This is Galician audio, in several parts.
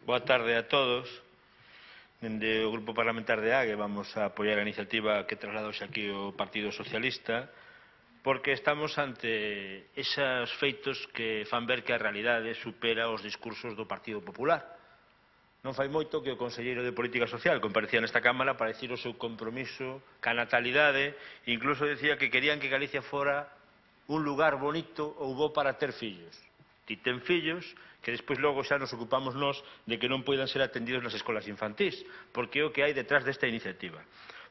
Boa tarde a todos. Dende o Grupo Parlamentar de AGE vamos a apoiar a iniciativa que trasladouse aquí o Partido Socialista porque estamos ante esos feitos que fan ver que a realidade supera os discursos do Partido Popular. Non fai moito que o conselleiro de Política Social comparecía nesta Cámara para dicir o seu compromiso ca natalidade, incluso decía que querían que Galicia fora un lugar bonito ou bo para ter fillos. Ti ten fillos que despois logo xa nos ocupamos nós de que non poidan ser atendidos nas escolas infantís, porque é o que hai detrás desta iniciativa.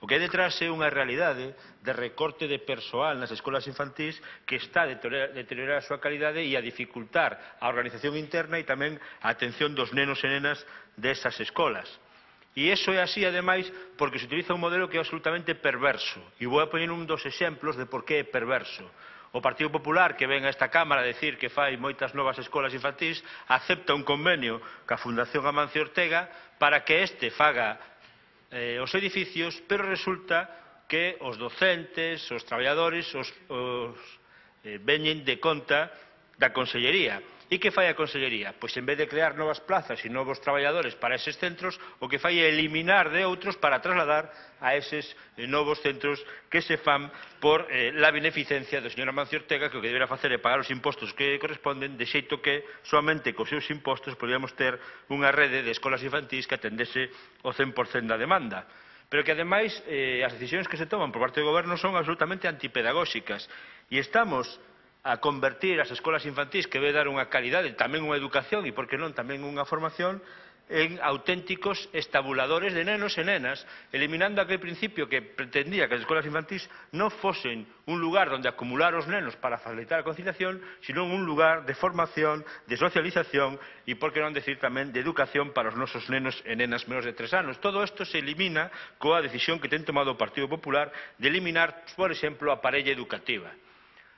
O que hai detrás é unha realidade de recorte de persoal nas escolas infantís que está a deteriorar a súa calidade e a dificultar a organización interna e tamén a atención dos nenos e nenas desas escolas. E iso é así, ademais, porque se utiliza un modelo que é absolutamente perverso. E vou a poñer un dos exemplos de por que é perverso. O Partido Popular, que ven a esta Cámara a decir que fai moitas novas escolas infantís, acepta un convenio ca Fundación Amancio Ortega para que este faga os edificios, pero resulta que os docentes, os traballadores, veñen de conta da Consellería. E que fai a Consellería? Pois en vez de crear novas plazas e novos traballadores para eses centros, o que fai é eliminar de outros para trasladar a eses novos centros que se fan por la beneficencia do señor Amancio Ortega, que o que deberá facer é pagar os impostos que corresponden, de xeito que soamente cos seus impostos podríamos ter unha rede de escolas infantís que atendese o 100% da demanda. Pero que, ademais, as decisións que se toman por parte do Goberno son absolutamente antipedagóxicas e estamos a convertir as escolas infantís, que debe dar unha calidade, tamén unha educación e, por que non, tamén unha formación, en auténticos estabuladores de nenos e nenas, eliminando aquel principio que pretendía que as escolas infantís non fosen un lugar onde acumular os nenos para facilitar a conciliación, sino un lugar de formación, de socialización e, por que non decir tamén, de educación para os nosos nenos e nenas menores de 3 anos. Todo isto se elimina coa decisión que ten tomado o Partido Popular de eliminar, por exemplo, a parella educativa.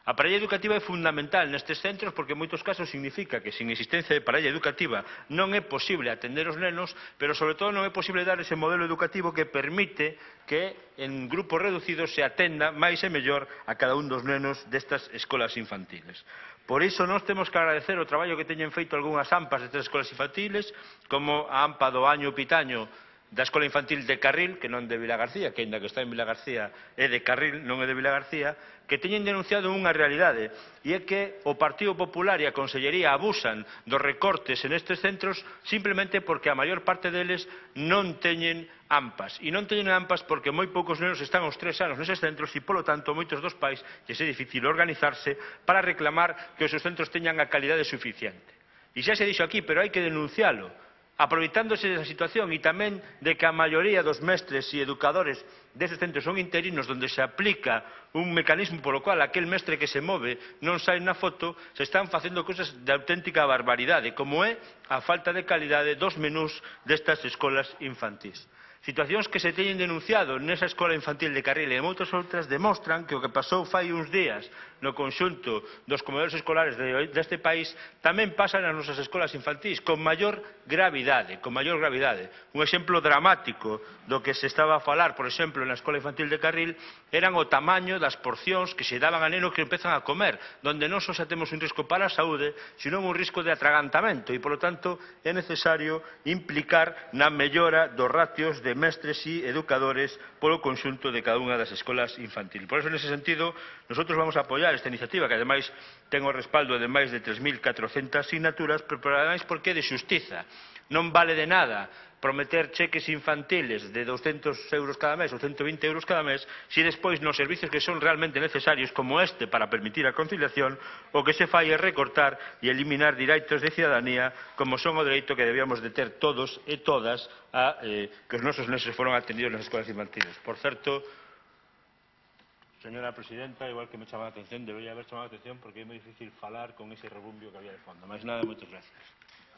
A parella educativa é fundamental nestes centros porque en moitos casos significa que sin existencia de parella educativa non é posible atender os nenos, pero sobre todo non é posible dar ese modelo educativo que permite que en grupos reducidos se atenda máis e mellor a cada un dos nenos destas escolas infantiles. Por iso nós temos que agradecer o traballo que teñen feito algunhas AMPAs destas escolas infantiles, como a AMPA do Año Pitaño da Escola Infantil de Carril, que non de Vilagarcía, que ainda que está en Vilagarcía é de Carril, non é de Vilagarcía, que teñen denunciado unha realidade, e é que o Partido Popular e a Consellería abusan dos recortes en estes centros simplemente porque a maior parte deles non teñen AMPAs. E non teñen AMPAs porque moi poucos nenos están aos 3 anos neses centros e, polo tanto, moitos dos pais lles é difícil organizarse para reclamar que os seus centros teñan a calidade suficiente. E xa se dixo aquí, pero hai que denuncialo, aproveitándose desa situación e tamén de que a maioría dos mestres e educadores deses centros son interinos onde se aplica un mecanismo polo cual aquel mestre que se move non sai na foto, se están facendo cousas de auténtica barbaridade, como é a falta de calidade dos menús destas escolas infantís. Situacións que se teñen denunciado nesa escola infantil de Carril e moitas outras demostran que o que pasou fai uns días no conxunto dos comedores escolares deste país tamén pasa nas nosas escolas infantís con maior gravidade. Un exemplo dramático do que se estaba a falar, por exemplo, na escola infantil de Carril eran o tamaño das porcións que se daban a nenos que empezan a comer, donde non só xa temos un risco para a saúde, sino un risco de atragantamento e, polo tanto, é necesario implicar na mellora dos ratios de mestres e educadores polo conxunto de cada unha das escolas infantiles. Por eso, nese sentido, nosotros vamos a apoiar esta iniciativa, que ademais ten o respaldo de máis de 3.400 asignaturas, pero ademais porque é de xustiza. Non vale de nada prometer cheques infantiles de 200 euros cada mes ou 120 euros cada mes se despois nos servicios que son realmente necesarios como este para permitir a conciliación o que se fai é recortar e eliminar direitos de cidadanía como son o dereito que debíamos de ter todos e todas a que os nosos neses foron atendidos nas escolas infantiles. Por certo, señora presidenta, igual que me chama a atención, debería haber chamado a atención porque é moi difícil falar con ese rebumbio que había de fondo. Mais nada, moitas gracias.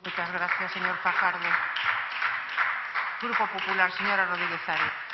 Muchas gracias, señor Fajardo. Grupo Popular, señora Rodríguez Arias.